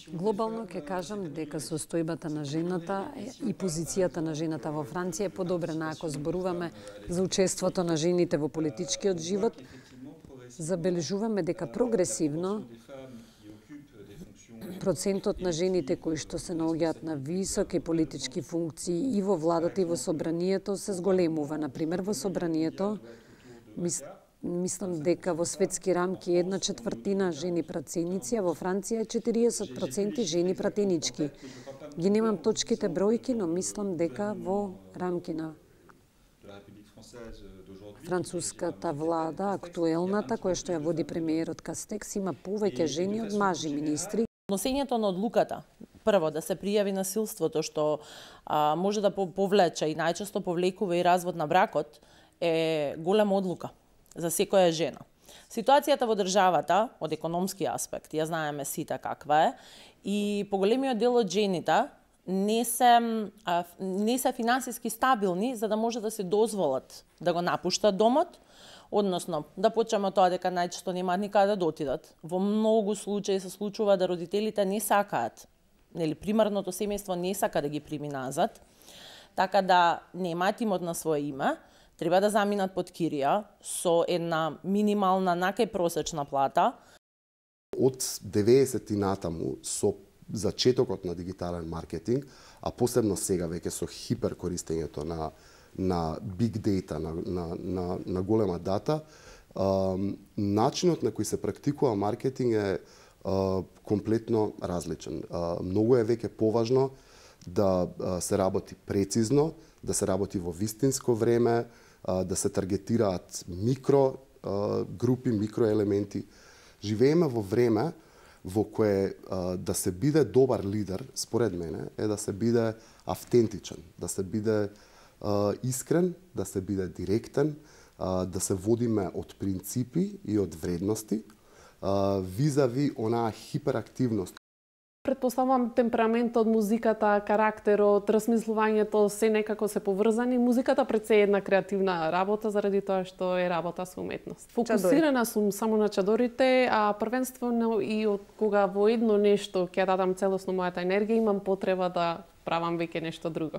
Глобално ќе кажам дека состојбата на жената и позицијата на жената во Франција е подобрена ако зборуваме за учеството на жените во политичкиот живот. Забележуваме дека прогресивно процентот на жените кои што се наоѓаат на високи политички функции и во владата и во собранието се зголемува. Например, во собранието мислам дека во светски рамки 1/4 жени пратеници, а во Франција е 40% жени пратенички. Ги немам точките бројки, но мислам дека во рамки на француската влада, актуелната, која што ја води премиерот Кастекс, има повеќе жени од мажи министри. Носењето на одлуката, прво да се пријави насилството што може да повлече и најчесто повлекува и развод на бракот, е голема одлука за секоја жена. Ситуацијата во државата, од економски аспект, ја знаеме сите каква е, и поголемиот дел од жените не се финансиски стабилни за да може да се дозволат да го напуштат домот, односно да почнеме од тоа дека најчесто немаат никаде да отидат. Во многу случаи се случува да родителите не сакаат, нели примарното семејство не сака да ги прими назад, така да немаат имот на свое име, треба да заминат под кирија со една минимална накај просечна плата. Од 90-ти натаму со зачетокот на дигитален маркетинг, а посебно сега веќе со хиперкористењето на big data, на голема дата, начинот на кој се практикува маркетинг е комплетно различен. Многу е веќе поважно да се работи прецизно, да се работи во вистинско време, да се таргетираат микро групи, микроелементи. Живееме во време во кое да се биде добар лидер, според мене, е да се биде автентичен, да се биде искрен, да се биде директен, да се водиме од принципи и од вредности, визави онаа хиперактивност. Претпоставам темпераментот, музиката, карактерот, размислувањето се некако се поврзани. Музиката пред се е една креативна работа заради тоа што е работа со уметност. Фокусирана сум само на чадорите, а првенствено и од кога во едно нешто ќе дадам целосно мојата енергија, имам потреба да правам веќе нешто друго.